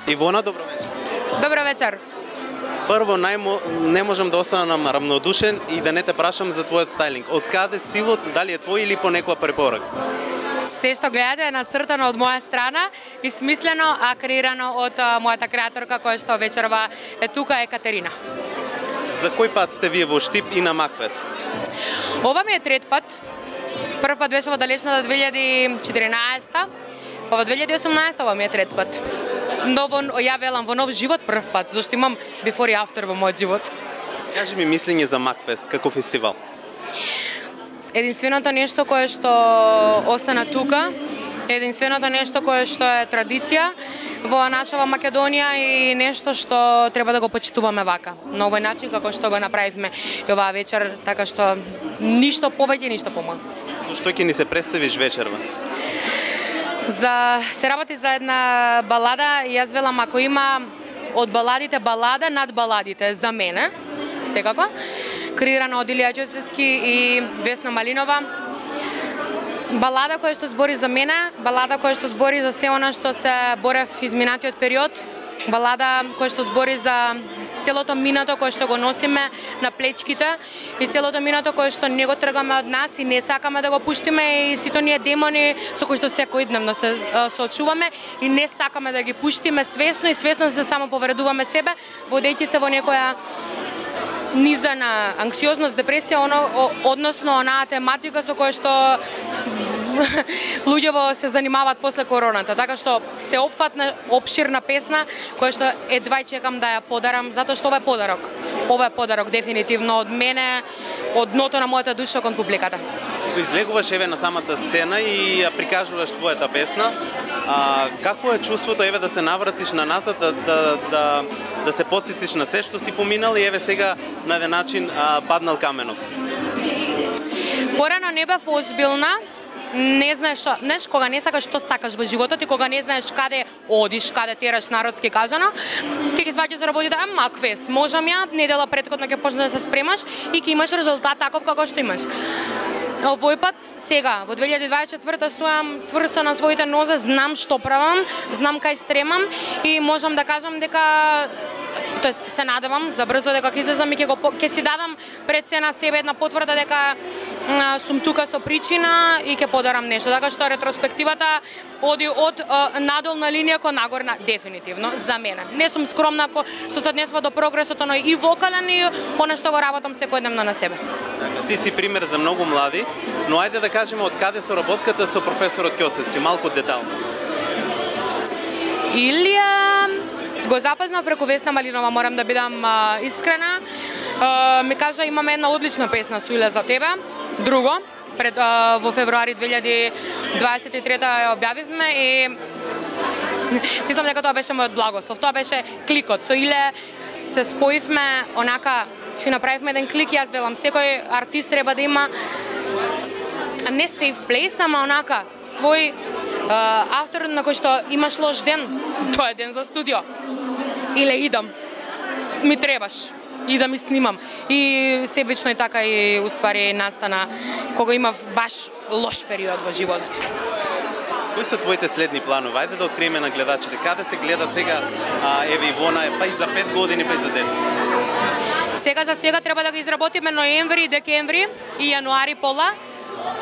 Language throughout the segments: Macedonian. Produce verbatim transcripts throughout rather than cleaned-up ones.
Ивона, добро вечер. Добро вечер. Прво, најмо, не можам да останам равнодушен и да не те прашам за твојот стайлинг. Од каде стилот, дали е твој или по некоја препорака? Се што гледате е нацртано од моја страна и смислено, а креирано од а, мојата креаторка која што вечерва е тука, Екатерина. За кој пат сте вие во Штип и на Макфест? Ова ми е трет пат. Прв пат беше во далечната две илјади и четиринаесета, па во две илјади и осумнаесета ова ми е трет пат. Но во, ја велам во нов живот прв пат, зашто имам before и after во мојот живот. Кажи ми мислење за Макфест како фестивал. Единственото нешто кое што остана тука, единственото нешто кое што е традиција во нашава Македонија и нешто што треба да го почитуваме вака, на овој начин како што го направивме и оваа вечер, така што ништо повеќе, ништо помалку. Што ќе ни се представиш вечерва? За се работи за една балада и јас велам ако има од баладите балада над баладите за мене, секако, креирана од Илија Ќосевски и Весна Малинова. Балада која што збори за мене, балада која што збори за се она што се борев изминатиот период, балада која што збори за целото минато кое што го носиме на плечките и целото минато кое што не го тргаме од нас и не сакаме да го пуштиме и сите оние демони со кои што секојдневно се соочуваме и не сакаме да ги пуштиме свесно и свесно се само повредуваме себе, водејќи се во некоја низа на анксиозност, депресија, оно, односно онаа тематика со која што луѓето се занимаваат после короната, така што се опфатна, опширна песна која што едва чекам да ја подарам, затоа што ова е подарок. Ова е подарок дефинитивно од мене, од дното на мојата душа кон публиката. Излегуваш еве на самата сцена и ја прикажуваш твојата песна. А, какво е чувството еве да се навратиш на назад, да, да, да, да се потсетиш на се што си поминал и еве сега на еден начин а, паднал каменот? Порано не бев озбилна, не знаеш, знаеш кога не сакаш што сакаш во животот и кога не знаеш каде одиш, каде тераш народски кажано, ќе ги сваќаш за работите, а Макфест, можам ја, недела претходно ќе почнеш да се спремаш и ќе имаш резултат таков како што имаш. Овој пат, сега, во две илјади дваесет и четврта стојам цврсто на своите нозе, знам што правам, знам кај стремам и можам да кажам дека тоест се надевам за брзо дека ќе излезам и ќе го ќе си дадам пред се на себе една потврда дека а, сум тука со причина и ќе подарам нешто. Така што ретроспективата оди од а, надолна линија кон нагорна дефинитивно за мене. Не сум скромна со се однесува до прогресот, но и вокален и она што го работам секојдневно на себе. Ти си пример за многу млади, но ајде да кажеме од каде со работката со професорот Ќосевски, малку детално. Илија го запознав преку Весна Малинова, морам да бидам а, искрена. А, ми кажа имаме една одлична песна со Иле за тебе. Друго, пред а, во февруари две илјади дваесет и трета ја објавивме и мислам дека тоа беше мојот благослов. Тоа беше кликот. Со Иле се споивме, онака си направивме еден клик, јас велам секој артист треба да има не safe place, ама онака свој uh, автор на кој што имаш лош ден, тоа е ден за студио. Иле идам, ми требаш, идам и снимам. И себично и така и уствари настана кога имав баш лош период во животот. Кои се твоите следни планови? Ајде да откриеме на гледачите. Каде се гледа сега а, еве Ивона, па и за пет години, па и за десет? Сега за сега треба да ги изработиме ноември, декември и јануари пола.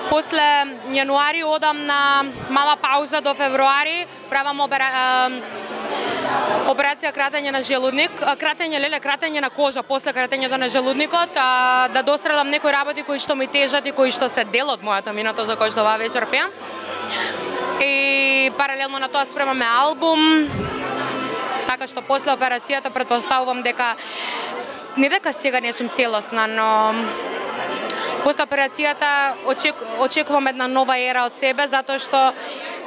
После јануари одам на мала пауза до февруари, правам опера... операција кратење на желудник, кратење леле, кратење на кожа после кратењето на желудникот, а, да досредам некои работи кои што ми тежат и кои што се дел од мојата минато за кој што оваа вечер пеам. И паралелно на тоа спремаме албум, така што после операцијата претпоставувам дека не дека сега не сум целосна, но после операцијата очек, очекувам една нова ера од себе, затоа што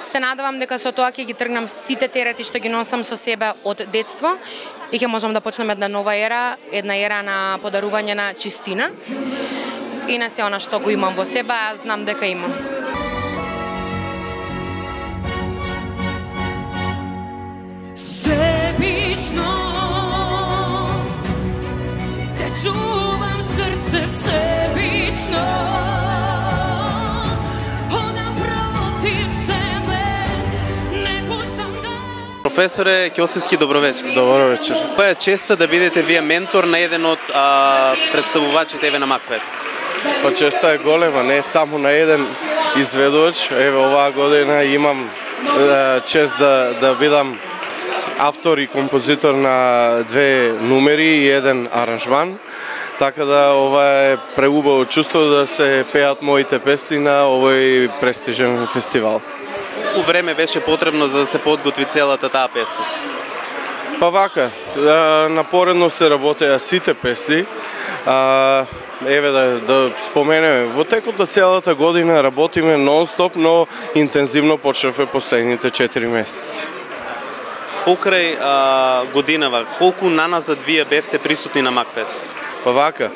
се надевам дека со тоа ќе ги тргнам сите терети што ги носам со себе од детство и ќе можам да почнем една нова ера, една ера на подарување на чистина и на се она што го имам во себе, а знам дека имам. Себично те чувам срце себично. Професоре Ќосевски, добро вечер. Добро вечер. Па е честа да бидете вие ментор на еден од а, представувачите еве на Макфест. Па честа е голема, не само на еден изведувач. Еве оваа година имам е, чест да да бидам автор и композитор на две numeri и еден аранжман. Така да ова е преубаво чувство да се пеат моите песни на овој престижен фестивал. Колку време беше потребно за да се подготви целата таа песна? Па вака, напоредно се работеа сите песни. А, еве да, да споменеме, во текот на целата година работиме нон-стоп, но интензивно почнавме последните четири месеци. Покрај а, годинава, колку наназад вие бевте присутни на Макфест? Па вака,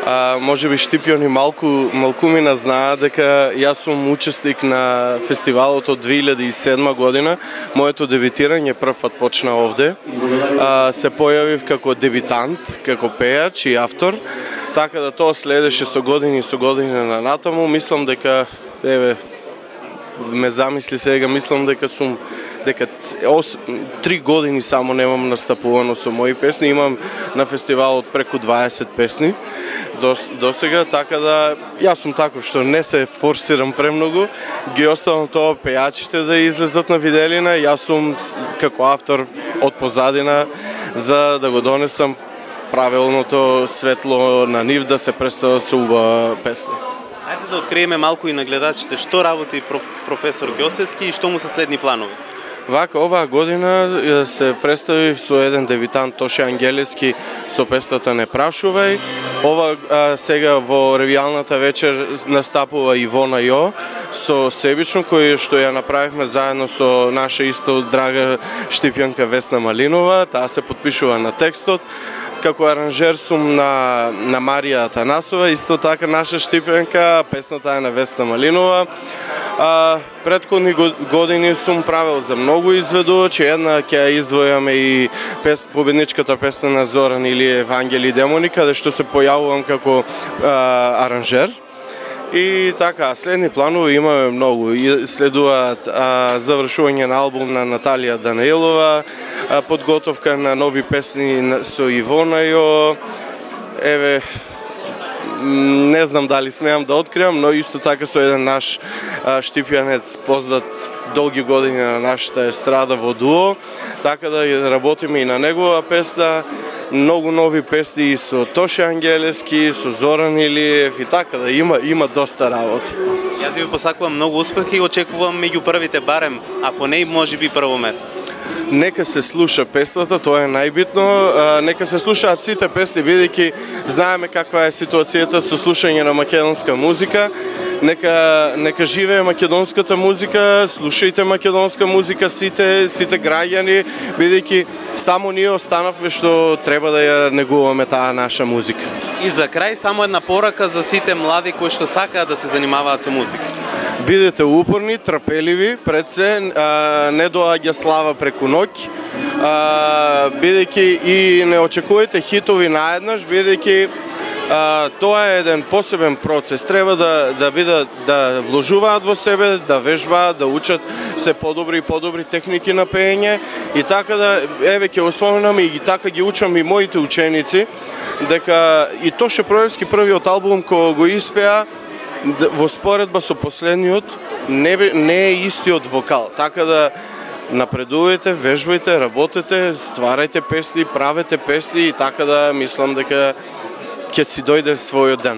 а, може би Штипјони малку, малкумина знаат дека јас сум учесник на фестивалот од две илјади и седма година. Моето дебитирање прв пат почна овде. А, се појавив како дебитант, како пејач и автор. Така да тоа следеше со години и со години на натаму. Мислам дека, еве, ме замисли сега, мислам дека сум дека три години само немам настапувано со мои песни, имам на фестивалот преку дваесет песни до, до сега, така да јас сум таков што не се форсирам премногу, ги оставам тоа пејачите да излезат на виделина, јас сум како автор од позадина за да го донесам правилното светло на нив да се представат со убава песни. Ајде да откриеме малку и на гледачите што работи професор Ќосевски и што му се следни планови. Вака, оваа година се представив со еден дебитант Тоше Ангелески со песната Не прашувај. Ова а, сега во ревијалната вечер настапува Ивона Јо со Себично, кој што ја направивме заедно со наша исто драга Штипјанка Весна Малинова. Таа се потпишува на текстот. Како аранжер сум на, на Марија Атанасова, исто така наша Штипјанка, песната е на Весна Малинова. А, предходни години сум правил за многу изведувачи, една ќе ја издвојаме и пес, победничката песна на Зоран Илиев Ангели и демони, каде што се појавувам како а, аранжер. И така, следни планови имаме многу. И следуваат а, завршување на албум на Наталија Данаилова, а, подготовка на нови песни со Ивона Јо. Еве, не знам дали смеам да откривам, но исто така со еден наш а, штипјанец познат долги години на нашата естрада во дуо, така да работиме и на негова песна. Многу нови песни и со Тоше Ангелески, со Зоран Илиев и така да има има доста работа. Јас ви посакувам многу успех и очекувам меѓу првите барем, ако не и можеби прво место. Нека се слуша песната, тоа е најбитно. Нека се слушаат сите песни, бидејќи знаеме каква е ситуацијата со слушање на македонска музика. Нека нека живее македонската музика, слушајте македонска музика сите сите граѓани, бидејќи само ние останавме што треба да ја негуваме таа наша музика. И за крај само една порака за сите млади кои што сакаат да се занимаваат со музика. Бидете упорни, трпеливи, пред се, а, не доаѓа слава преку ноќ, а, бидејќи и не очекувате хитови наеднаш, бидејќи а, тоа е еден посебен процес. Треба да да бидат да вложуваат во себе, да вежбаат, да учат се подобри и подобри техники на пеење и така да еве ќе го споменам и така ги учам и моите ученици дека и Тоше Проевски првиот албум кој го испеа во споредба со последниот не, не е истиот вокал, така да напредувате, вежбајте, работете, стварајте песни, правете песни и така да мислам дека ќе си дојде својот ден.